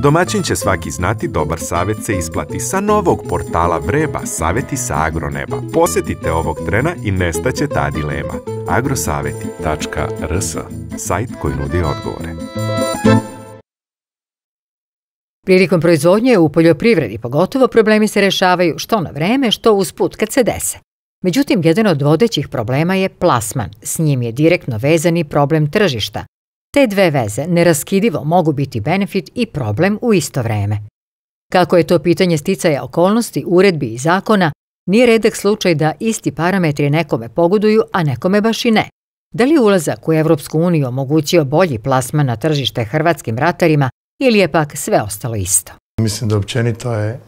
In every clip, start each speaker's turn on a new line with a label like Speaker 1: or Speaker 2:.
Speaker 1: Domaćin će svaki znati, dobar savjet se isplati. Sa novog portala Vreba, savjeti sa agroneba. Posjetite ovog trena i nestaće ta dilema. agrosavjeti.rs, sajt koji nudi odgovore.
Speaker 2: Prilikom proizvodnje u poljoprivredi pogotovo problemi se rešavaju što na vreme, što usput kad se dese. Međutim, jedan od vodećih problema je plasman. S njim je direktno vezan i problem tržišta. Te dve veze neraskidivo mogu biti benefit i problem u isto vreme. Kako je to pitanje sticaja okolnosti, uredbi i zakona, nije redak slučaj da isti parametri nekome pogoduju, a nekome baš i ne. Da li je ulazak u Evropsku uniju omogućio bolji plasman na tržište hrvatskim ratarima ili je pak sve ostalo isto?
Speaker 3: Mislim da općenito je,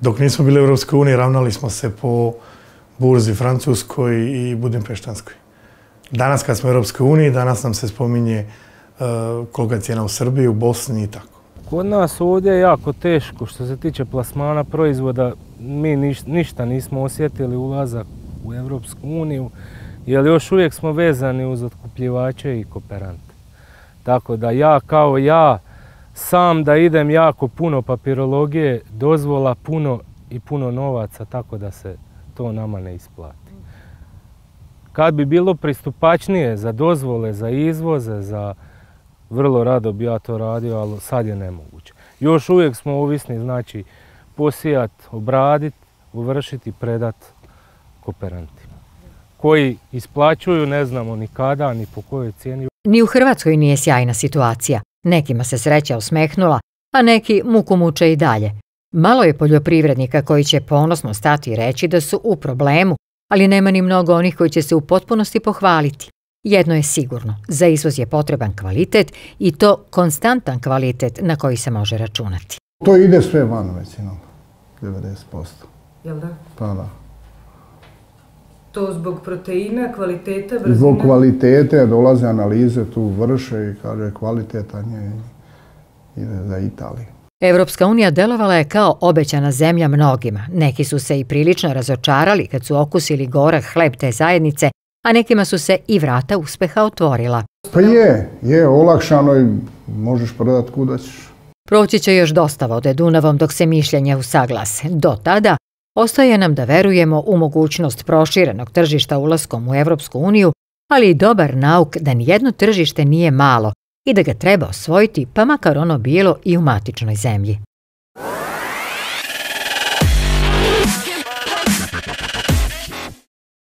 Speaker 3: dok nismo bili u Evropskoj uniji, ravnali smo se po burzi francuskoj i budimpeštanskoj. Danas kad smo u Europskoj uniji, danas nam se spominje kolika je cijena u Srbiji, u Bosni i tako.
Speaker 4: Kod nas ovdje je jako teško što se tiče plasmana proizvoda. Mi ništa nismo osjetili ulazak u Europsku uniju, jer još uvijek smo vezani uz otkupljivače i kooperante. Tako da ja sam da idem jako puno papirologije, dozvola puno novaca, tako da se to nama ne isplati. Kad bi bilo pristupačnije za dozvole, za izvoze, vrlo rado bi ja to radio, ali sad je nemoguće. Još uvijek smo ovisni, znači posijat, obradit, uvršiti i predat kooperantima. Koji isplaćuju, ne znamo ni kada, ni po kojoj cijeni.
Speaker 2: Ni u Hrvatskoj nije sjajna situacija. Nekima se sreća osmehnula, a neki muku muče i dalje. Malo je poljoprivrednika koji će ponosno stati i reći da su u problemu, ali nema ni mnogo onih koji će se u potpunosti pohvaliti. Jedno je sigurno, za izvoz je potreban kvalitet i to konstantan kvalitet na koji se može računati.
Speaker 5: To ide sve van većinom, 90%.
Speaker 6: Jel da?
Speaker 5: Pa da.
Speaker 6: To zbog proteina, kvaliteta, brzine?
Speaker 5: Zbog kvalitete dolaze analize, tu vrše i kaže kvalitetan je i ide za Italiju.
Speaker 2: Evropska unija delovala je kao obećana zemlja mnogima. Neki su se i prilično razočarali kad su okusili gorak hleb te zajednice, a nekima su se i vrata uspeha otvorila.
Speaker 5: Pa je olakšano i možeš prodati kuda ćeš.
Speaker 2: Proći će još dosta vode Dunavom dok se mišljenja usaglase. Do tada ostaje nam da verujemo u mogućnost proširenog tržišta ulaskom u Evropsku uniju, ali i dobar nauk da nijedno tržište nije malo i da ga treba osvojiti, pa makar ono bilo i u matičnoj zemlji.